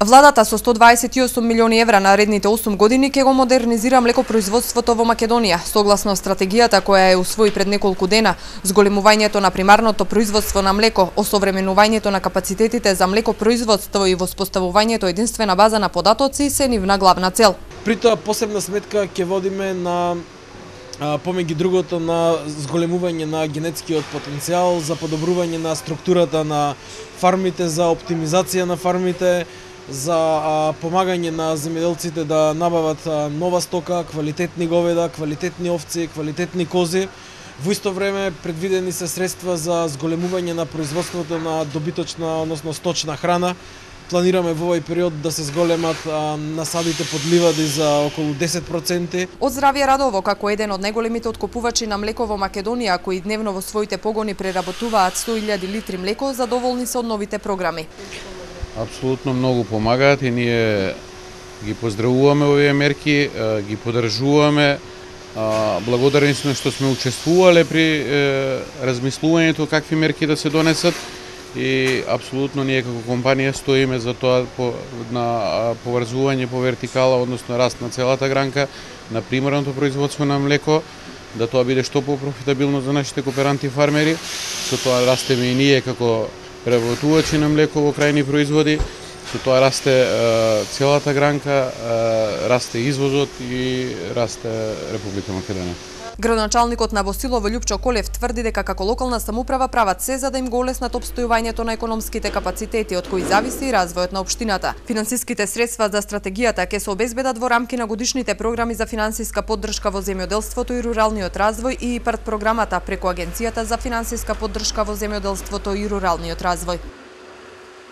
Владата со 128 милиони евра на наредните 8 години ќе го модернизира млекопроизводството во Македонија, согласно стратегијата која е усвои пред неколку дена. Зголемувањето на примарното производство на млеко, осовременувањето на капацитетите за млекопроизводство и воспоставувањето единствена база на податоци се нивна главна цел. При тоа посебна сметка ќе водиме на помеѓу другото на зголемување на генетскиот потенцијал, за подобрување на структурата на фармите, за оптимизација на фармите, за помагање на земјоделците да набават нова стока, квалитетни говеда, квалитетни овци, квалитетни кози. Во исто време предвидени се средства за зголемување на производството на добиточна, односно сточна храна. Планираме во овој период да се зголемат насадите под ливади за околу 10%. Од Здравје Радово, како еден од најголемите откупувачи на млеко во Македонија, кои дневно во своите погони преработуваат 100.000 литри млеко, задоволни се од новите програми. Апсолутно многу помагаат и ние ги поздравуваме овие мерки, ги поддржуваме. Благодарни сме што сме учествувале при размислувањето какви мерки да се донесат и апсолутно ние како компанија стоиме за тоа на поврзување по вертикала, односно раст на целата гранка на примарното производство на млеко, да тоа биде што попрофитабилно за нашите кооперанти фармери, со тоа растеме и ние како преработувачи на млеко во крајни производи, со тоа расте целата гранка, расте извозот и расте Република Македонија. Градоначалникот на Босилово Љупчо Колев тврди дека како локална самоуправа прават се за да им го олеснат опстојувањето на економските капацитети од кои зависи и развојот на општината. Финансиските средства за стратегијата ќе се обезбедат во рамки на годишните програми за финансиска поддршка во земјоделството и руралниот развој и ИПАРД програмата преку Агенцијата за финансиска поддршка во земјоделството и руралниот развој.